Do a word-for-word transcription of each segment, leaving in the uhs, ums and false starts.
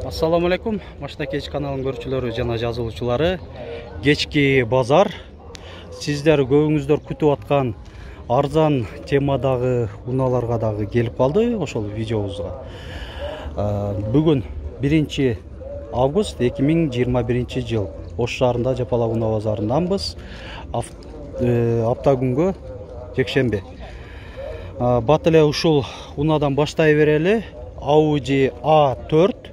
Assalamu alaikum. Машина кеч каналынын көрүүчүлөрү жана жазылуучулары. Кечки базар. Сиздер көбүңүздөр күтүп аткан арзан темадагы унааларга дагы келип калды ошол видеобузга. Бүгүн биринчи август эки миң жыйырма биринчи жыл. Ош шаарында Жапалак унаа базарынданбыз. Апта күнгө жекшемби. Бат эле ушул унаадан баштай берели. Audi а төрт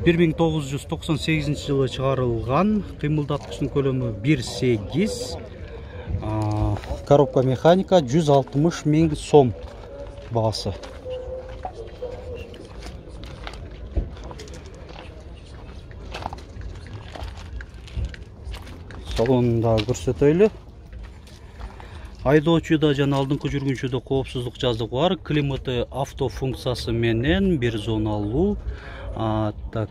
бир миң тогуз жүз токсон сегизинчи жылы чыгарылган, кыймылдаткычтын көлөмү бир сегиз, коробка механика, жүз алтымыш миң сом баасы. Салонунда көрсөтөйлү. Айдоочуда жана алдыңкы жүргүнчүдө коопсуздук жазыгы бар. Климаты авто функциясы менен бир зоналуу. Так,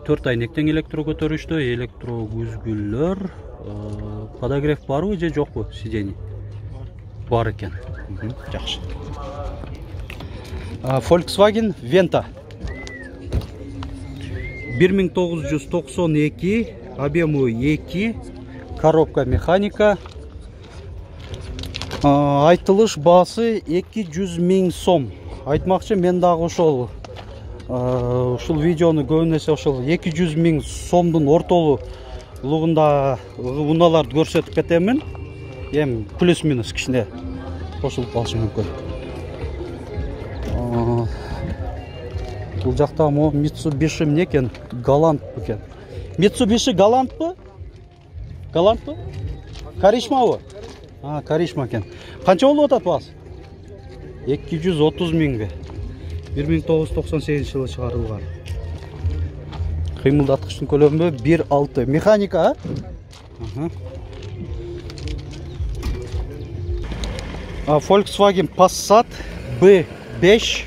төрт айнектен электро көтөрүштө, электро күзгүлөр, подогрев барбы же жокпу сидений? Бар экен. Жакшы. Volkswagen Venta бир миң тогуз жүз токсон эки, объему эки, коробка механика. Айтылыш баасы эки жүз миң сом. Айтмакчы, мен дагы ошол ушул видеону көбүн эсе ошол эки жүз миң сомдун ортолугунда унааларды көрсөтүп кетемин. Эми плюс минус кичине кошулуп калышы мүмкүн. Бул жакта мо Mitsubishi эмне экен? Галант экен. Mitsubishi Галантпы? Галантпы? Каришмабы? А, Каришма экен. Канча болуп атат баасы? эки жүз отуз миңби? бир миң тогуз жүз токсон сегизинчи жылы чыгарылган. Кыймылдаткычтын көлөмү бир алты. Механика, а? Volkswagen Passat бэ беш.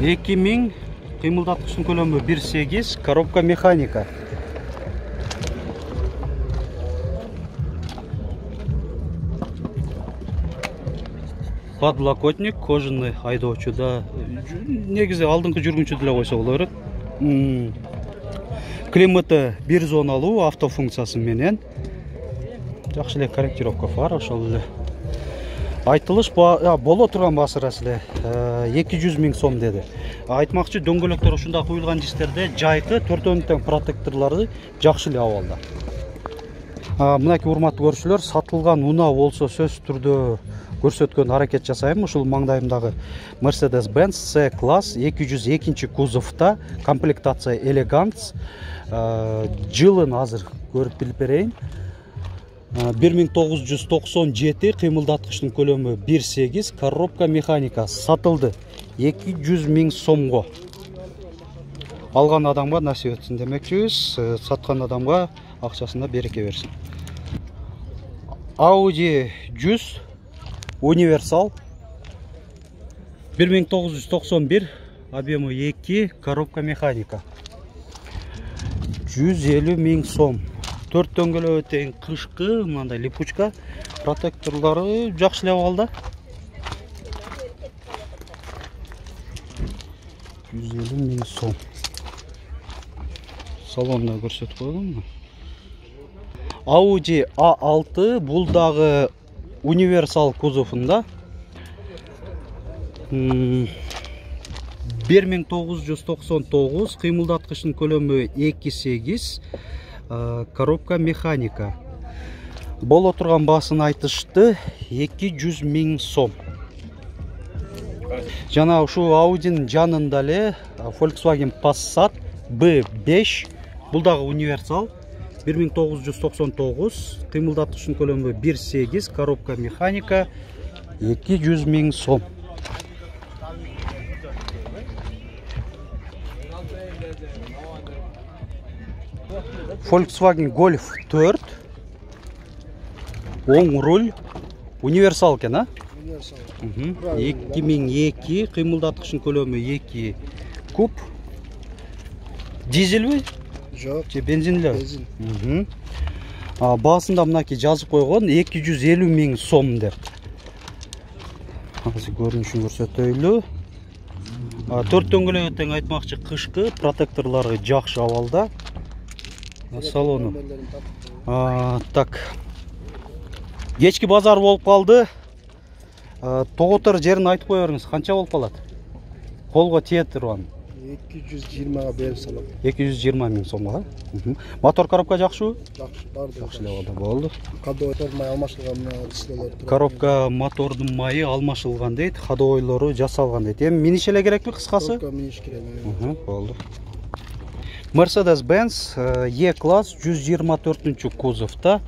эки миң, кыймылдаткычтын көлөмү бир сегиз, коробка механика. Подлокотник, кожаный айдоочуда. Негизи алдыңкы жүргүнчү деле койсо боло берет. Климаты бир зоналуу, авто функциясы менен. Жакшы эле корректировка бар, ошол эле. Айтылыш боло турган баасы рас эле эки жүз миң сом деди. Айтмакчы, дөңгөлөктөр ушундай куюлган жистерде жайкы төртөөнүн тең протекторлору жакшы эле абалда. Мынакей урматтуу көрүүчүлөр, сатылган унаа болсо сөзсүз түрдө көрсөткөн аракет жасайм. Ушул маңдайымдагы Mercedes-Benz C-класс эки жүз экинчи кузовта, комплектация Elegance. Жылын азыр көрүп билип берейин. бир миң тогуз жүз токсон жети, кыймылдаткычтын көлөмү бир сегиз, коробка механика. Сатылды эки жүз миң сомго. Алган адамга насип этсин демекчибиз, саткан адамга акчасында береке берсин. Audi жүз универсал бир миң тогуз жүз токсон бир, объему эки, коробка механика. жүз элүү миң сом. төрт дөңгөлөгү тең кышкы, мындай липучка, протекторлору жакшы эле абалда. жүз элүү миң сом. Салонда көрсөтүп койдум. Audi а алты, бул дагы универсал кузовунда. бир миң тогуз жүз токсон тогуз, кыймылдаткычтын көлөмү эки сегиз, коробка механика. Боло турган баасын айтышты эки жүз миң сом. Жана ушул Audi'нын жанында эле Volkswagen Passat бэ беш, бул дагы универсал. бир миң тогуз жүз токсон тогуз, кыймылдаткычтын көлөмү бир сегиз, коробка механика, эки жүз миң сом. Volkswagen Golf төрт, оң руль, универсал экен, а? Универсал. эки миң эки, кыймылдаткычтын көлөмү эки куб. Дизельби? Жок, же бензинли? Бензин. Баасында мынакей жазып койгон эки жүз элүү миң сом деп. Азыр көрүнүшүн көрсөтөйлү. Төрт дөңгөлөгү тең айтмакчы, кышкы, протекторлору жакшы абалда. Салону. Так. Кечки базар болуп калды. Тоготор жерин айтып кое бериңиз, канча болуп калат? Колго тиет турган. эки жүз жыйырмага берип салам. эки жүз жыйырма миң сомго. Мотор коробка жакшыбы? Жакшы, барды. Жакшы эле болду. Ходовой май алмашылган дисплейлер. Коробка мотордун майы алмашылган дейт, ходовойлору жасалган дейт. Эми миниш эле керекпи кыскасы? Коробка миниш керек. Болду. Mercedes-Benz E-класс жүз жыйырма төртүнчү кузовда.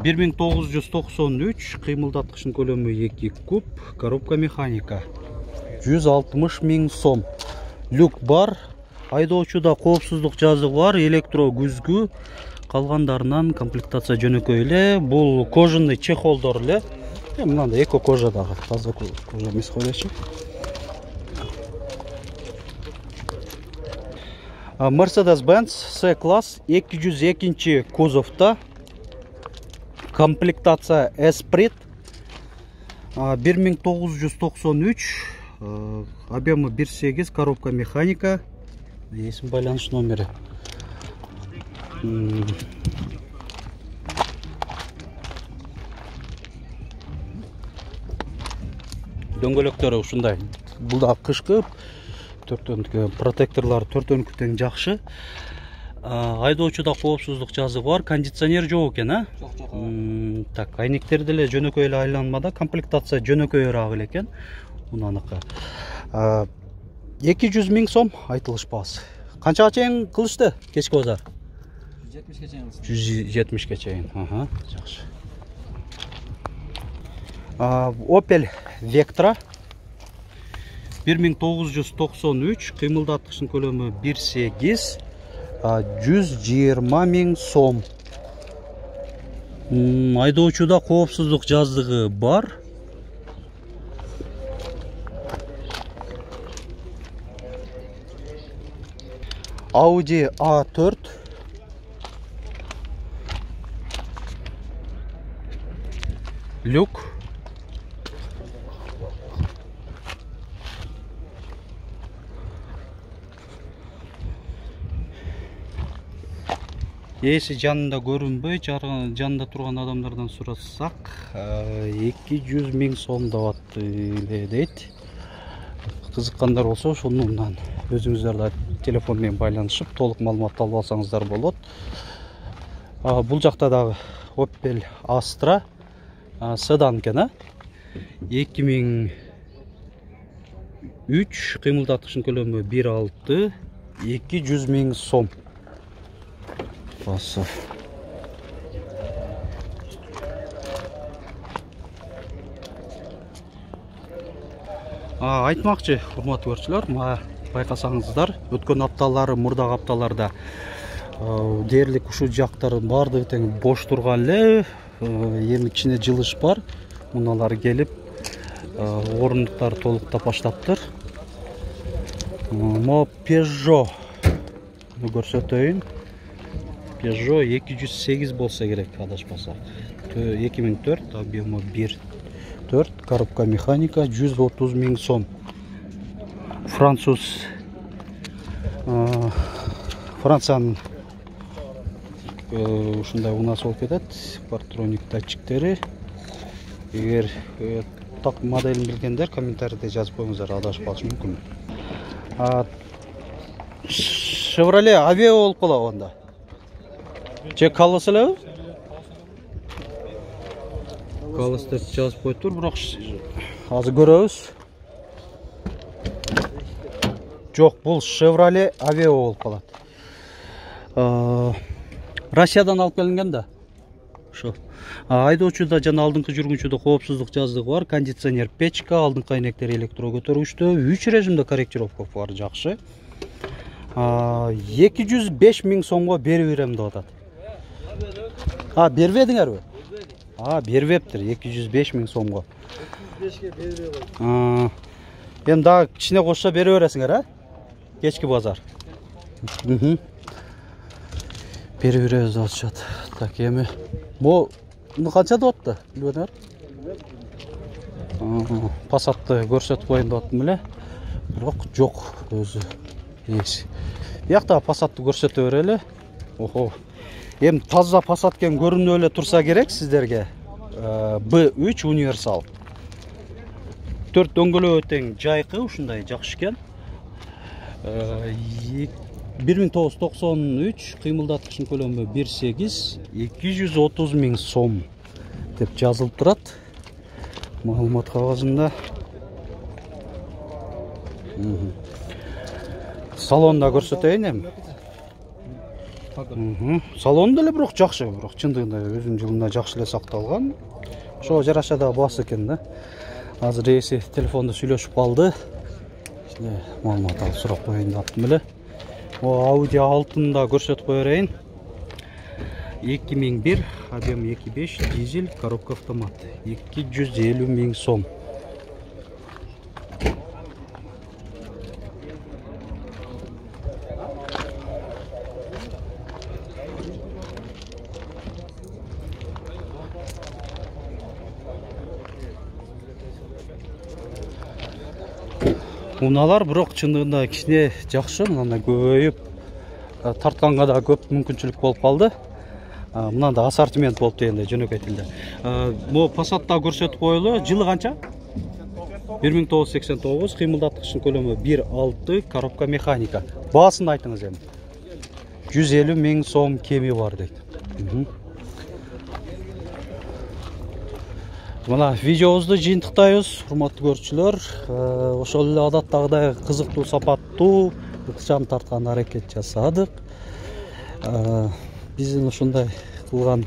бир миң тогуз жүз токсон үч, кыймылдаткычтын көлөмү эки куб, коробка механика. жүз алтымыш миң сом. Люк бар, айдоочуда коопсуздук жазыгы бар, электро күзгү, калгандарынан комплектация жөнөкөй эле. Бул кожаный чехолдор эле. Мынандай эко кожа дагы, таза кожа эмес койчу. Mercedes-Benz C-класс эки жүз экинчи кузовда. Комплектация Esprit. бир миң тогуз жүз токсон үч, объемы бир сегиз, коробка механика. Есим байланыш номери. Дөңгөлөктөрү ушундай. Бул да кышкы, протекторлор төртөөнүкү тең жакшы. Айдоочуда коопсуздук жазыгы бар, кондиционер жок экен, а? Жок, жок. Так, айнектер деле жөнөкөй эле айланмада, комплектация жөнөкөйрөөк эле экен. Мунаныкы. эки жүз миң сом айтылыш баасы. Канчага чейин кылышты кечки базар? жүз жетимишке чейин. жүз жетимишке чейин. Аха, жакшы. Opel Vectra бир миң тогуз жүз токсон үч, кыймылдаткычтын көлөмү бир сегиз, жүз жыйырма миң сом. Айдоочуда коопсуздук жазыгы бар. Audi а төрт. Люк. Эси жанында көрүнбөй, жанында турган адамдардан сурасак, эки жүз миң сом деп дейт. Кызыккандар болсо, ошонун өзүңүздөр да телефон менен байланышып, толук маалымат алып алсаңыздар болот. Бул жакта дагы Opel Astra седан экен, а? эки миң үч, кыймылдаткычтын көлөмү бир алты, эки жүз миң сом. Басып. Айтмакчы, урматтуу көрүүчүлөр, байкасаңыздар, өткөн апталары, мурдагы апталарда дээрлик ушул жактардын баардыгы тең бош турган эле, эми кичине жылыш бар. Муналар келип, орундуктар толуктап баштаптыр. Мо Peugeot көрсөтөйүн. Peugeot эки жүз сегиз болса керек, адашпасак. эки миң төрт, объемы бир төрт, коробка механика, жүз отуз миң сом. Француз, Франциянын ушундай унасы болуп кетет, партроник датчиктери. Эгер так моделин билгендер комментарийде жазып коюңуздар, адашып калышы мүмкүн. Chevrolet Aveo болуп калат анда. Же Колос элеби? Колос деп жазып коюптур, бирок азыр көрөбүз. Жок, бул Chevrolet Aveo болуп калат. Россиядан алып келинген да. Ошо. Айдоочуда жана алдыңкы жүргүнчүдө коопсуздук жазыгы бар, кондиционер печка, алдыңкы айнектер электро көтөргүчтүү, үч режимде корректировка бар, жакшы. эки жүз беш миң сомго берип берем деп атат. А, бербедиңерби? А, бербептир, эки жүз беш миң сомго. эки жүз бешке бербей кой. Эми дагы кичине кошсо бере бересиңер, а? Кечки базар. бере беребиз деп атышат. Так, эми бу канча деп атты? Билбедим. Passat'ты көрсөтүп коеюн деп аттым эле. Бирок жок өзү. Эс. Биякта Passat'ты көрсөтө берели. Охо. Эми таза Passat кен көрүнүп эле турса керек сиздерге. би үч универсал. төрт дөңгөлөө тең жайкы, ушундай жакшы экен. бир миң тогуз жүз токсон үч, кыймылдаткычынын көлөмү бир сегиз, эки жүз отуз миң сом деп жазылып турат. Маалымат кагазында. Салонда көрсөтөйүн эми. Салон деле бирок жакшы, бирок чындыгында өзүнүн жылында жакшы эле сакталган. Ошо жараша да басы экен да. Азыр эси телефонда сүйлөшүп калды. Маалымат алып сурап коеюн деп аттым эле. О Audi алтында көрсөтүп кое берейин. эки миң бир, объем эки беш, дизель, коробка автомат. эки жүз элүү миң сом. Уналар бирок чындыгында кичине жакшы, мындай көбөйүп тартканга да көп мүмкүнчүлүк болуп калды. Мынанда ассортимент болуп дегенде жөнөкөй тилде. Бу Passat'та көрсөтүп коелу. Жылы канча? бир миң тогуз жүз сексен тогуз, кыймылдаткычынын көлөмү бир алты, коробка механика. Баасын айтыңыз эми. жүз элүү миң сом кеми бар дейт. Мына видеобузду жыйынтыктайбыз, урматтуу көрүүчүлөр. Ошол эле адаттагыдай кызыктуу, сапаттуу, ыкчам тарткан аракет жасадык. Биздин ушундай кылган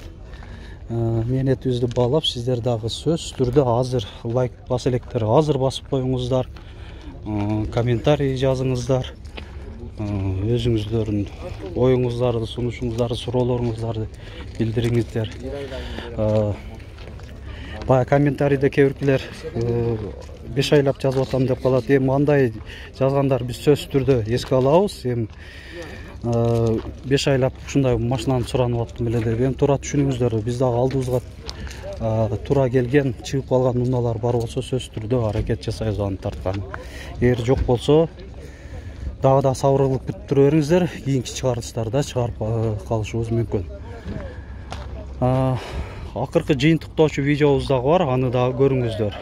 мээнетибизди баалап, сиздер дагы сөзсүз түрдө азыр лайк баса электер, азыр басып коюңуздар, комментарий жазыңыздар, өзүңүздөрдүн оюңуздарды, сунушуңуздарды, суроолоруңуздарды билдириңиздер. Бая комментарийде кээ биркилер беш айлап жазып атам деп калат. Эми андай жазгандар биз сөзсүз түрдө эске алабыз. Эми беш айлап ушундай машинаны суранып аттым эле деп эми туура түшүнүңүздөр. Биз дагы алдыбызга туура келген, чыгып калган унаалар бар болсо сөзсүз түрдө аракет жасайбыз аны тарткан. Эгер жок болсо дагы да сабыр кылып күтүп тура бериңиздер. Кийинки чыгарылыштарда чыгарып калышыбыз мүмкүн. Акыркы жыйынтыктоочу видеобуз дагы бар, аны дагы көрүңүздөр.